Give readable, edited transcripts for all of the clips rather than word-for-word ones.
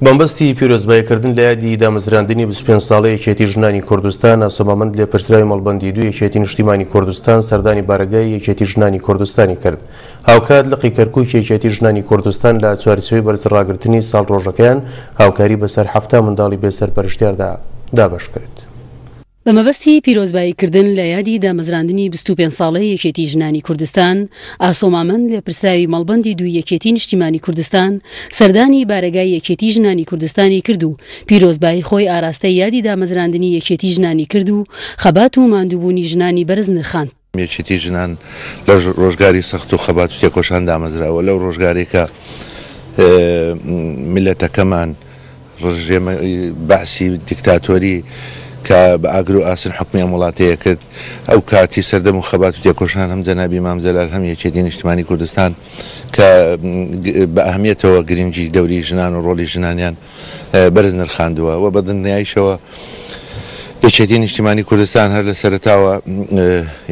بەمەبەستی پیرۆزباییکردن لە یادی دامەزراندنی 25 ساڵەی یەکێتی ژنانی کوردستان، ئاسۆ مامەند لێپرسراوی مەڵبەندی دوو یەکێتی نیشتیمانی کوردستان سەردانی بارەگای یەکێتی ژنانی کوردستانی کرد. هاوکات لقی کەرکوکی یەکێتی ژنانی کوردستان لە چوارچێوەی بەرزڕاگرتنی ساڵڕۆژەکەیان هاوکاری بەسەر 70 منداڵی بێسەرپەرشتیاردا دابەشکرد. بە مەبەستی پیرۆزبایی کردن لە یادی دامەزراندنی 25 ساڵەی یەکێتی ژنانی کوردستان، ئاسۆ مامەند لێپرسراوی مەڵبەندی دووی یەکێتی نیشتیمانی کوردستان سەردانی بارەگای یەکێتی ژنانی کوردستانی کرد و پیرۆزبایی خۆی ئاراستەی یادی دامەزراندنی یەکێتی ژنانی کرد و خەبات و ماندووبوونی ژنانی بەرز نرخاند. یەکێتی ژنان لە ڕۆژگاری سەخت و خەبات و تێکۆشان دامەزراوە، لەو ڕۆژگارەی کە میللەتەکەمان ڕژێمی بەعسی دیکتاتۆری کە بە ئاگر و ئاسن حوکمی ئەم وڵاتەیە کرد، ئەو کاتی سەردەم و خەبات و تێکۆشان هەم جەنابی مام جەلال هەم یەکێتی نیشتمانی کوردستان کە بە ئەهمیەتەوە گرنگی دەوری ژنان و ڕۆڵی ژنانیان بەرز نرخاندووە و بە دڵنیاییشەوە یەکێتی نیشتیمانی کوردستان هەر لە سەرەتاوە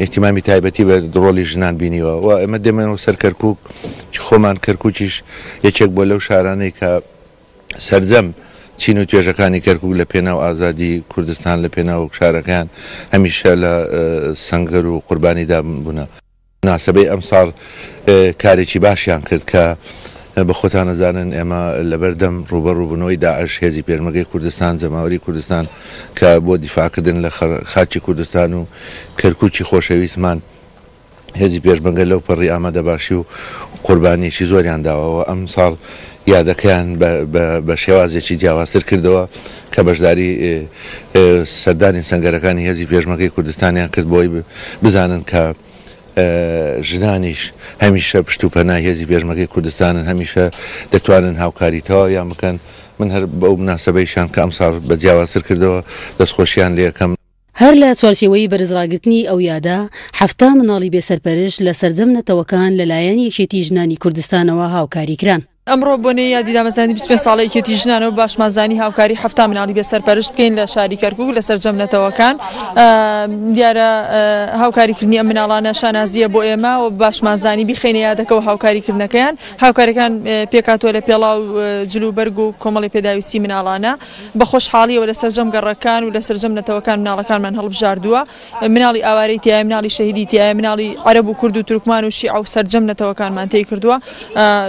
ئیهتیمامی تایبەتی بە ڕۆڵی ژنان بینیوە و ئێمە دێمەوە سەر کەرکووک خۆمان کەرکووکیش یەکێک بووە لەو شارانەی کە سەرجەم چین و توێژەکانی کەرکووک لە پێناو ئازادی کوردستان لە پێناو شارەکەیان هەمیشە لە سەنگەر و قوربانیدا بوونە. موناسەبەی ئەمساڵ کارێکی باشیان کرد کە بە خۆتان ئەزانن ئێمە لەبەردەم ڕووبەڕووبوونەوەی داعش هێزی پێشمەرگەی کوردستان جەماوەری کوردستان کە بۆ دیفاعکردن لە خاکی کوردستان و کەرکوکی خۆشەویستمان هێزی پێشمەرگە لەو پەڕی ئامادەباشی و قوربانیەکی زۆریان داوە و ئەمساڵ یادەکەیان بە شێوازێکی جیاوازتر کردەوە کە بەشداری سەردانی سەنگەرەکانی هێزی پێشمەرگەی کوردستانیان کرد بۆی بزانن کە ژنانیش هەمیشە پشت و پەنای هێزی پێشمەرگەی کوردستانن، هەمیشە دەتوانن هاوکاری تەواویان بکەن، من هەر بەو موناسەبەیشیان کە ئەمساڵ بە جیاوازتر کردەوە دەستخۆشیان لێ ئەکەم. هەر لە چوارچێوەی بەرزڕاگرتنی ئەو یادە، 70 منداڵی بێسەرپەرشت لە سەرجەم نەتەوەکان لەلایەن یەکێتی ژنانی کوردستانەوە هاوکاری کران. ئەمڕۆ بۆنەی یادی دامەزراندنی 25 ساڵەی یەکێتی ژنانەوە باشمان زانی هاوکاری 70 مناڵی بێ سەرپەرشت بکەین لە شاری کەرکوک لە سەرجەم نەتەوەکان. دیارە هاوکاریکردنی ئەم مناڵانە شانازییە بۆ ئێمە و باشمان زانی بیخەینە یادەکەوە هاوکاریکردنەکەیان. هاوکاریەکان پێکهاتووە لە پێڵاو جل و بەرگ و کۆمەڵی پێداویستی مناڵانە. بە خۆشحاڵیەوە لە سەرجەم گەڕەکان و لە سەرجەم نەتەوەکان مناڵەکانمان هەڵبژاردووە. مناڵی ئاوارەی تیایە، مناڵی شەهیدی تیایە، مناڵی عەرەب و کورد و تورکمان و شیعە و سەرجەم نەتەوەکانمان تێی کردووە.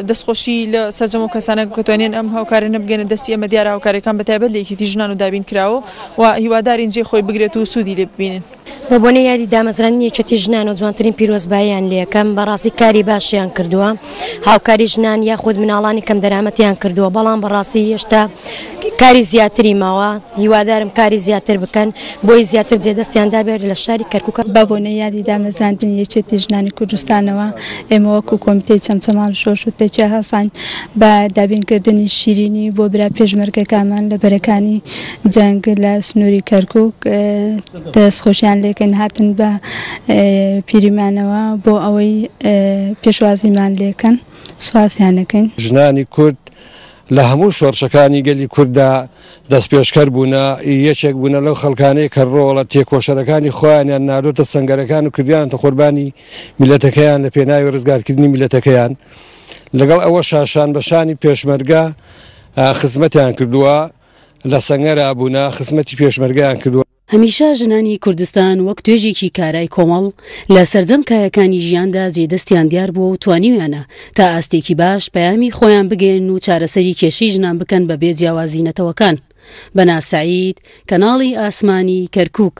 دەستخۆشی لە سەرجەم ئەو کەسانە کە توانیان ئەم هاوکاریانە بگەنە دەستی ئێمە، دیارە هاوکاریەکان بە تایبەت لە یەکێتی ژنان و دابین کراوە و هیوادارین جێی خۆی بگرێت و سوودی لێ ببینن. بە بۆنەی یادی دامەزراندنی یەکێتی ژنانەوە جوانترین پیرۆزباییان لێکەم، بەڕاستی کاری باشیان کردووە، هاوکاری ژنان یاخود مناڵانی کەمدەرامەتیان کردووە، بەڵام بەڕاستی هێشتا کاری زیاتری ماوە، هیوادارم کاری زیاتر بکەن بۆی زیاتر جێدەستیان دابێت لە شاری کەرکوک. بە بۆنەی یادی دامەزراندنی یەکێتی ژنانی کوردستانەوە ئێمە وەکو کۆمیتەی چەمچەماڵ و شۆرش و تەکیە هەڵساین بە دابینکردنی شیرینی بۆ برا پێشمەرگەکانمان لە بەرەکانی جەنگ لە سنووری کەرکوک دەستخۆشیان لێکەین هاتن بە پیریمانەوە بۆ ئەوەی پێشوازیمان لێکەن سوپاسیان ئەکەین. ژنانی کورد لە هەموو شۆڕشەکانی گەلی کورددا دەستپێشکەر بوونە، یەکێک بوونە لەو خەڵکانەی کە ڕۆڵە تێکۆشەرەکانی خۆیانیان ناردۆتە سەنگەرەکان و کردیانەتە قوربانی میللەتەکەیان لە پێناوی ڕزگارکردنی میللەتەکەیان، لەگەڵ ئەوەشا شان بە شانی پێشمەرگە خزمەتیان کردووە، لە سەنگەرا بوونە، خزمەتی پێشمەرگەیان کردووە. هەمیشە ژنانی کوردستان وەک توێژێکی کارای کۆمەڵ لە سەرجەم کایەکانی ژیاندا جێ دەستیان دیار بووە و توانیویانە تا ئاستێکی باش پەیامی خۆیان بگەیەنن و چارەسەری کێشەی ژنان بکەن بە بێ جیاوازی نەتەوەکان. بەنا سەعید، کەناڵی ئاسمانی، کەرکوک.